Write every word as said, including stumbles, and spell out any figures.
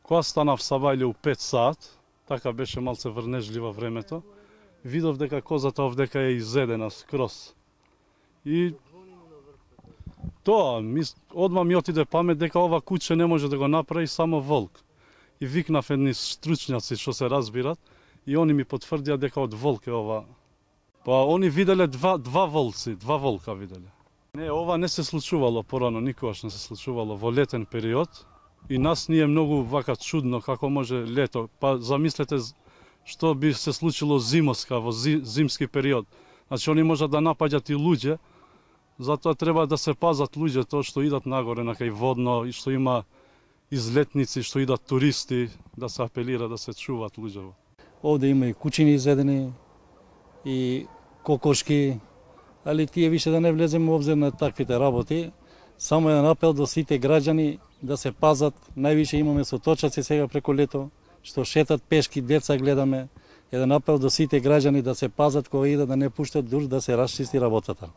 Кога станав сабајле у пет саат, така беше малце врнежлива времето, видов дека козата овдека е изедена скроз. И тоа, одма ми отиде памет дека ова куче не може да го направи само волк. И викнав едни стручњаци што се разбират, и они ми потврдија дека од волк е ова. Па они виделе два, два волци, два волка виделе. Не, ова не се случувало порано, никогаш не се случувало во летен период. И нас ни е многу вака чудно како може лето. Па замислете што би се случило зимоска во зимски период. Значи они можат да напаѓат и луѓе, затоа треба да се пазат луѓето што идат нагоре на кај водно и што има излетници, што идат туристи, да се апелира да се чуваат луѓето. Овде има и кучини изедени, и кокошки, али тие више да не влеземе во обзир на таквите работи. Само еден апел до сите граѓани да се пазат. Највише имаме соточаци сега преку лето, што шетат пешки, деца гледаме. Еден апел до сите граѓани да се пазат кога идат, да не пуштат дур да се расчисти работата.